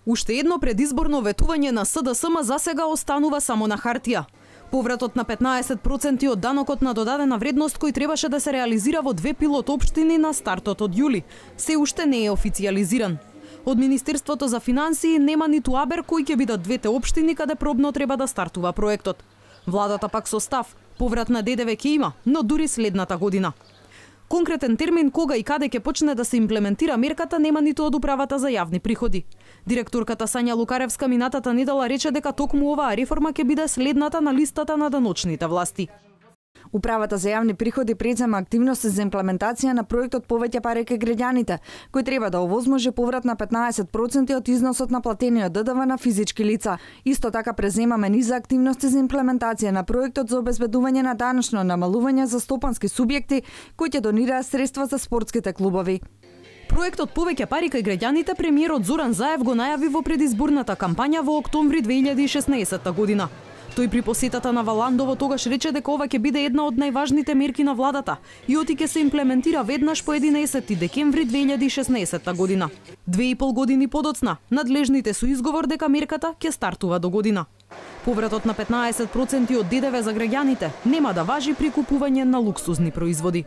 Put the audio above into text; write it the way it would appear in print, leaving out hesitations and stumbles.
Уште едно предизборно ветување на СДСМ засега останува само на хартија. Повратот на 15% од данокот на додадена вредност кој требаше да се реализира во 2 пилот општини на стартот од јули, се уште не е официјализиран. Од Министерството за финансии нема ниту абер кои ќе бидат двете општини каде пробно треба да стартува проектот. Владата пак со став, поврат на ДДВ ќе има, но дури следната година. Конкретен термин кога и каде ќе почне да се имплементира мерката нема ниту од Управата за јавни приходи. Директорката Сања Лукаревска минатата недела рече дека токму оваа реформа ќе биде следната на листата на даночните власти. Управата за јавни приходи презема активности за имплементација на проектот Повеќе пари кај граѓаните, кој треба да овозможи поврат на 15% од износот на платениот ДДВ на физички лица. Исто така преземаме низа активности за имплементација на проектот за обезбедување на даночно намалување за стопански субјекти кои ќе донираат средства за спортските клубови. Проектот Повеќе пари кај граѓаните премиерот Зоран Заев го најави во предизборната кампања во октомври 2016 година. Тој при посетата на Валандово тогаш рече дека ова ќе биде една од најважните мерки на владата и оти ќе се имплементира веднаш по 11 декември 2016 година. 2,5 години подоцна, надлежните со изговор дека мерката ќе стартува до година. Повратот на 15% од ДДВ за граѓаните нема да важи при купување на луксузни производи.